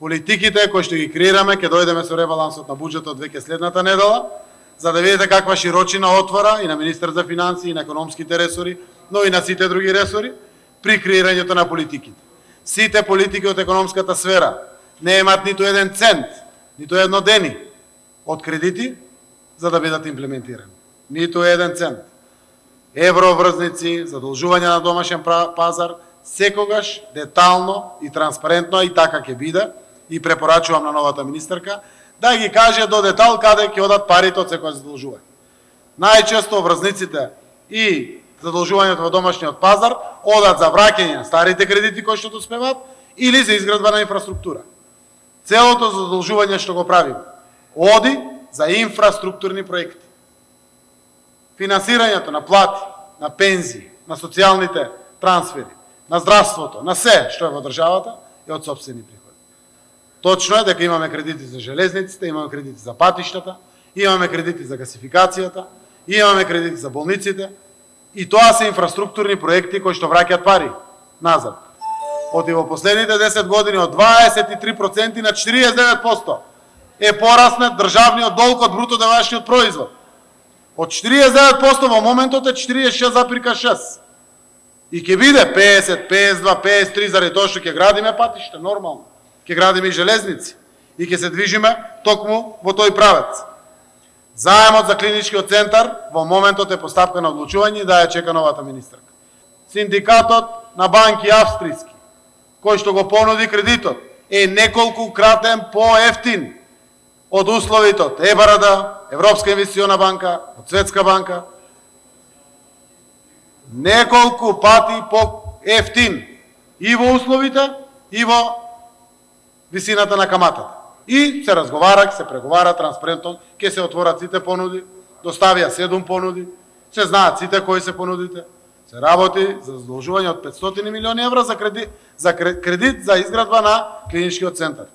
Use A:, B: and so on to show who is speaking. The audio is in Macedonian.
A: Политиките кои што ги креираме, ќе дојдеме со ребалансот на буџетот веќе следната недела, за да видите каква широчина отвора и на министер за финансии, и на економските ресори, но и на сите други ресори, при креирањето на политиките. Сите политики од економската сфера не имаат ниту еден цент, ниту едно дени од кредити за да бидат имплементирани. Ниту еден цент. Евроврзници, задолжување на домашен пазар, секогаш детално и транспарентно, и така ќе биде, и препорачувам на новата министерка, да ги каже до детал каде ќе одат парите од секој задолжување. Најчесто врзниците и задолжувањето во домашниот пазар одат за враќање на старите кредити кои што доспеваат или за изградба на инфраструктура. Целото задолжување што го правиме оди за инфраструктурни проекти. Финансирањето на плати, на пензии, на социјалните трансфери, на здравството, на се што е во државата е од сопствени приходи. Точно е дека имаме кредити за железниците, имаме кредити за патиштата, имаме кредити за гасификацијата, имаме кредити за болниците, и тоа се инфраструктурни проекти кои што враќаат пари назад. Оти во последните 10 години од 23% на 49% е пораснат државниот долг од бруто домашниот производ. Од 49% во моментот е 46,6%. И ќе биде 50, 52, 53 заради тоа што ќе градиме патишта, нормално. Ќе градиме и железници и ќе се движиме токму во тој правец. Заемот за клиничкиот центар во моментот е постапка на одлучување и да ја чека новата министерка. Синдикатот на банки австријски, кој што го понуди кредитот, е неколку кратен поевтин од условите од ЕБРД, Европска инвестициона банка, од Светска банка. Неколку пати поевтин и во условите, и во висината на каматата. И се разговара, се преговара транспарентно, ќе се отворат сите понуди, доставија 7 понуди, се знаат сите кои се понудите, се работи за задолжување од 500 милиони евра за кредит за изградба на клиничкиот центар.